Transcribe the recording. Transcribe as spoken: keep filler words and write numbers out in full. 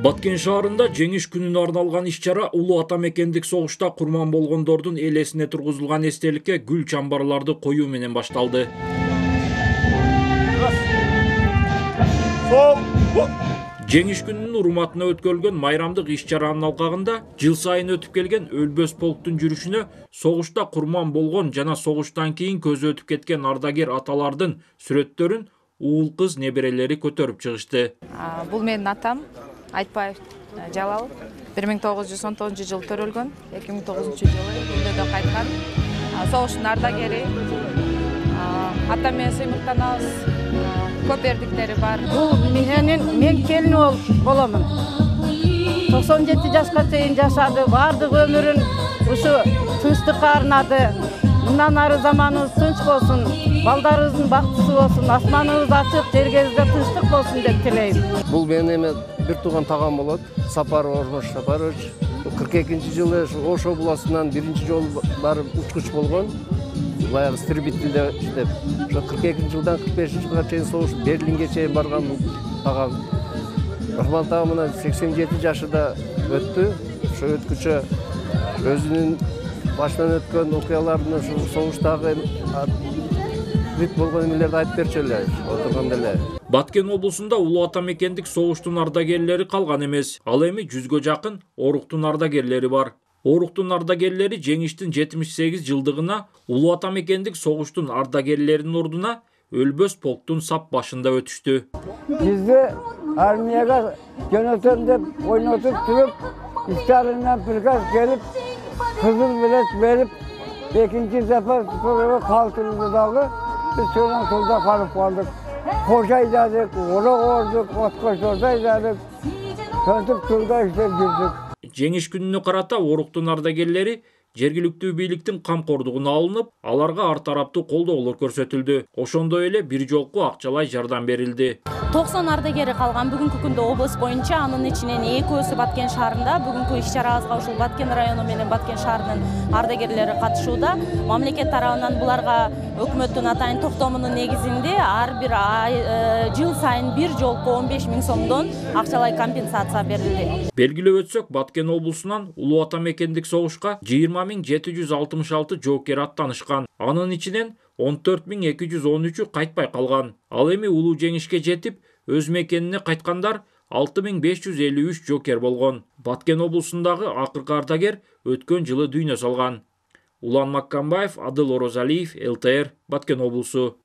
Баткен шаарында жеңиш күнүнө арналган иш-чара улуу ата мекендик согушта курман болгондордун эл эсине тургузулган эстеликке гүл чамбарларды коюу менен башталды. Жеңиш күнүнүн урматына өткөрүлгөн майрамдык иш-чаранын алкагында жыл сайын өтүп келген Өлбөс полктун жүрүшүнө согушта курман болгон жана согуштан кийин көзү өтүп кеткен ардагер аталардын сүрөттөрүн уул кыз неберелери көтөрүп чыгышты. Бул менин атам Айтбаев Жалал бир миң тогуз жүз он тогузунчу жылы төрөлгөн, эки миң тогузунчу жылы дүнүйгө кайткан. Согуштун ардагери. Атам менен сыймыктанабыз. Көп эрдиктери бар. Бул менин мен келини боломун. токсон жети жашка чейин жашады. Бардык өмүрүн ушу тынчтыкка арнады. Мындан ары заманыбыз тынч болсун, балдарыбыздын бактысы болсун, асманыбыз ачык, жергебизде тынчтык болсун деп тилейм. Бул менин эме бир тууган тагам болот. Сапаров Ормош Сапарович кырк экинчи жылы Ошо буласынан биринчи жолу барып учкуч болгон. Баягы истребителде иштеп, ошо кырк экинчи жылдан кырк бешинчи жылга чейин согуш Берлинге чейин барган бул тагам. Рахман тагам мына сексен жети жашында өттү. Ошо өткүчө өзүнүн башынан өткөн окуялардын ушу согуштагы бүт болгон эмелерди айтып берчү эле отурганда эле. Баткен облусунда улуу ата мекендик согуштун ардагерлери калган эмес. Ал эми жүзгө жакын оруктун ардагерлери бар. Оруктун ардагерлери жеңиштин жетимиш сегиз жылдыгына улуу ата мекендик согуштун ардагерлеринин ордуна Өлбөс полктун сап башында өтүштү. Бизди армияга жөнөтөм деп ойнотуп туруп, Сталинден приказ келип, кызыл билет берип, экинчи сапар туруп калтырды дагы. Биз сонун тылда калып калдык. Кош айдадык, орок ордук, откошторду айдадык. Сонтип тылда иштеп жүрдүк. Жеңиш күнүнө карата оруктун ардагерлери жергиликтүү бийликтин камкордугуна алынып, аларга ар тараптуу колдоолор көрсөтүлдү. Ошондой эле бир жолку акчалай жардам берилди. токсон ардагери калган бүгүнкү күндө облус боюнча, анын ичинен экөөсү Баткен шаарында. Бүгүнкү иш-чарабызга ушул Баткен району менен Баткен шаарынын ардагерлери катышууда. Мамлекет тарабынан буларга өкмөттүн атайын токтомунун негизинде ар бир жыл сайын бир жолку он беш миң сомдон акчалай компенсация берилди. Белгилеп өтсөк, Баткен облусунан улуу ата мекендик согушка жыйырма миң жети жүз алтымыш алты жоокер аттанышкан. Анын ичинен он төрт миң эки жүз он үчү кайтпай калган. Ал эми улуу жеңишке жетип, өз мекенине кайткандар алты миң беш жүз элүү үч жоокер болгон. Баткен облусундагы акыркы ардагер өткөн жылы дүйнө салган. Улан Маккамбаев, Адыл Орозалиев, эл тэ эр, Баткен облусу.